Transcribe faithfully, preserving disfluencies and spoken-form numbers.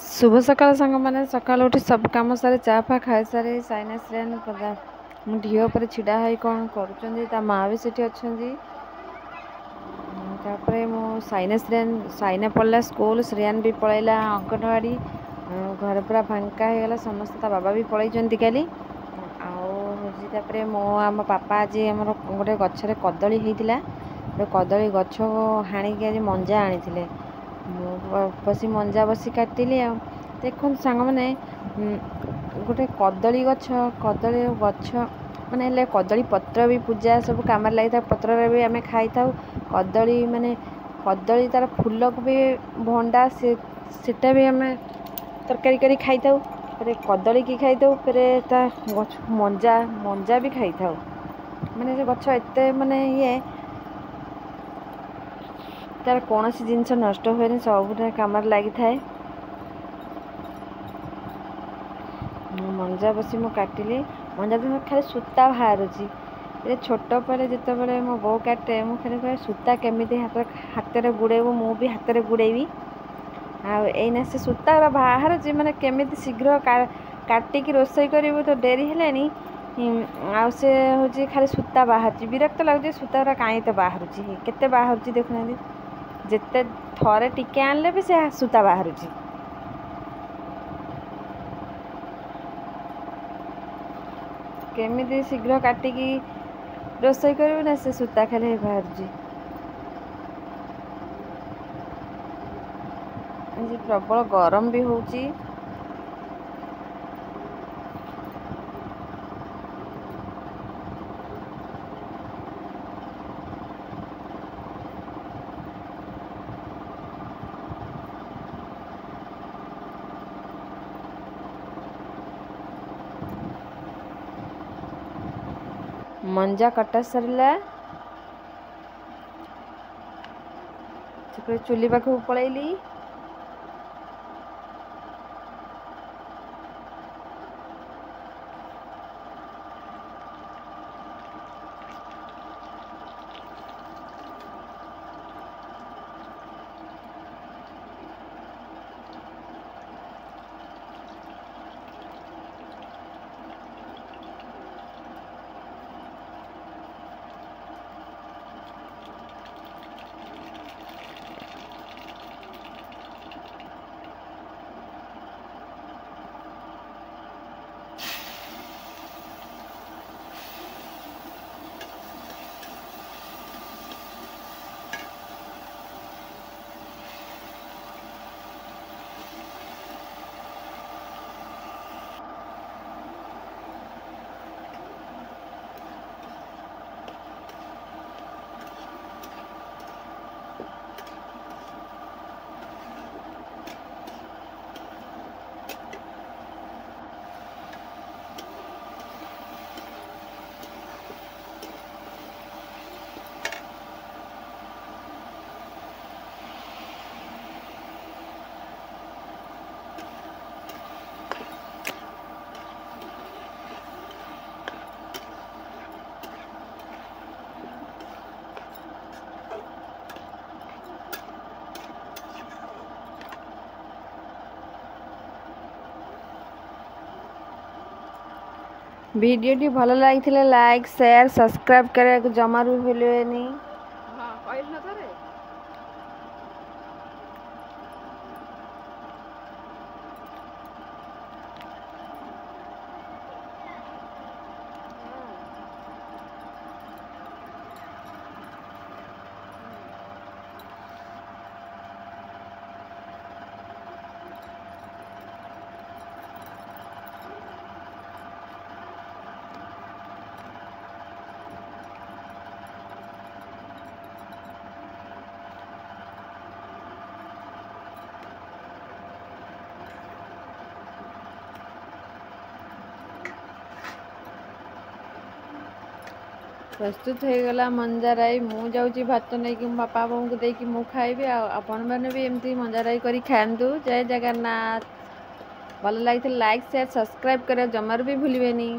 ଶୁଭ ସକାଳ ସାଙ୍ଗମାନେ। ସକାଳୁ ଉଠି ସବୁ କାମ ସାରି, ଚା ଫା ଖାଇସାରି ସାଇନା ଶ୍ରେୟାନ ମୁଁ ଢିଅ ଉପରେ ଛିଡ଼ା ହେଇ କ'ଣ କରୁଛନ୍ତି। ତା ମା ବି ସେଠି ଅଛନ୍ତି। ତାପରେ ମୁଁ ସାଇନା ଶ୍ରେୟାନ, ସାଇନା ପଳେଇଲା ସ୍କୁଲ, ଶ୍ରେୟାନ ବି ପଳେଇଲା ଅଙ୍ଗନବାଡ଼ି। ଘରେ ପୁରା ଫାଙ୍କା ହେଇଗଲା ସମସ୍ତେ। ତା ବାବା ବି ପଳେଇଛନ୍ତି କାଲି। ଆଉ ହେଉଛି ତାପରେ ମୁଁ ଆମ ବାପା ଆଜି ଆମର ଗୋଟେ ଗଛରେ କଦଳୀ ହେଇଥିଲା, ଗୋଟେ କଦଳୀ ଗଛ ହାଣିକି ଆଜି ମଞ୍ଜା ଆଣିଥିଲେ। ମୁଁ ବସି ମଞ୍ଜା ବସି କାଟିଲି। ଆଉ ଦେଖନ୍ତୁ ସାଙ୍ଗମାନେ, ଗୋଟେ କଦଳୀ ଗଛ, କଦଳୀ ଗଛ ମାନେ ହେଲେ କଦଳୀ ପତ୍ର ବି ପୂଜା ସବୁ କାମରେ ଲାଗିଥାଏ। ପତ୍ରରେ ବି ଆମେ ଖାଇଥାଉ କଦଳୀ। ମାନେ କଦଳୀ ତାର ଫୁଲକୁ ବି ଭଣ୍ଡା, ସେ ସେଟା ବି ଆମେ ତରକାରୀ କରି ଖାଇଥାଉ। ଫେରେ କଦଳୀକି ଖାଇଥାଉ, ଫେରେ ତା ଗଛ ମଞ୍ଜା ମଞ୍ଜା ବି ଖାଇଥାଉ। ମାନେ ସେ ଗଛ ଏତେ ମାନେ ଇଏ, ତାର କୌଣସି ଜିନିଷ ନଷ୍ଟ ହୁଏନି, ସବୁଟା କାମରେ ଲାଗିଥାଏ। ମଞ୍ଜା ବସି ମୁଁ କାଟିଲି। ମଞ୍ଜା ତ ଖାଲି ସୂତା ବାହାରୁଛି। ଏ ଛୋଟ ପରେ ଯେତେବେଳେ ମୋ ବୋଉ କାଟେ, ମୁଁ ଖାଲି କହେ ସୂତା କେମିତି ହାତରେ ହାତରେ ଗୁଡ଼େଇବୁ, ମୁଁ ବି ହାତରେ ଗୁଡ଼େଇବି। ଆଉ ଏଇନା ସେ ସୂତା ବାହାରୁଛି, ମାନେ କେମିତି ଶୀଘ୍ର କାଟିକି ରୋଷେଇ କରିବୁ ତ ଡେରି ହେଲାଣି। ଆଉ ସେ ହେଉଛି ଖାଲି ସୂତା ବାହାରୁଛି, ବିରକ୍ତ ଲାଗୁଛି। ସୂତା ଗୁଡ଼ା କାହିଁ ତ ବାହାରୁଛି, କେତେ ବାହାରୁଛି ଦେଖୁନାହାନ୍ତି। ଯେତେ ଥରେ ଟିକେ ଆଣିଲେ ବି ସେ ସୂତା ବାହାରୁଛି। କେମିତି ଶୀଘ୍ର କାଟିକି ରୋଷେଇ କରିବୁ ନା, ସେ ସୂତା ଖାଲି ବାହାରୁଛି। ଆଜି ପ୍ରବଳ ଗରମ ବି ହେଉଛି। ମଞ୍ଜା କଟା ସରିଲା, ତାପରେ ଚୁଲି ପାଖକୁ ପଳେଇଲି। ଭିଡ଼ିଓଟି ଭଲ ଲାଗିଥିଲେ ଲାଇକ୍, ସେୟାର, ସବସ୍କ୍ରାଇବ୍ କରିବାକୁ ଜମାରୁ ଭୁଲିବେନି। ହଁ, କହିଲୁ ନା ଥରେ। ପ୍ରସ୍ତୁତ ହେଇଗଲା ମଞ୍ଜା ରାଇ। ମୁଁ ଯାଉଛି ଭାତ ନେଇକି ମୋ ବାପା ବୋଉଙ୍କୁ ଦେଇକି ମୁଁ ଖାଇବି। ଆଉ ଆପଣମାନେ ବି ଏମିତି ମଞ୍ଜା ରାଇ କରି ଖାଆନ୍ତୁ। ଜୟ ଜଗନ୍ନାଥ। ଭଲ ଲାଗିଥିଲେ ଲାଇକ୍, ସେୟାର, ସବସ୍କ୍ରାଇବ୍ କରିବା ଜମାରୁ ବି ଭୁଲିବେନି।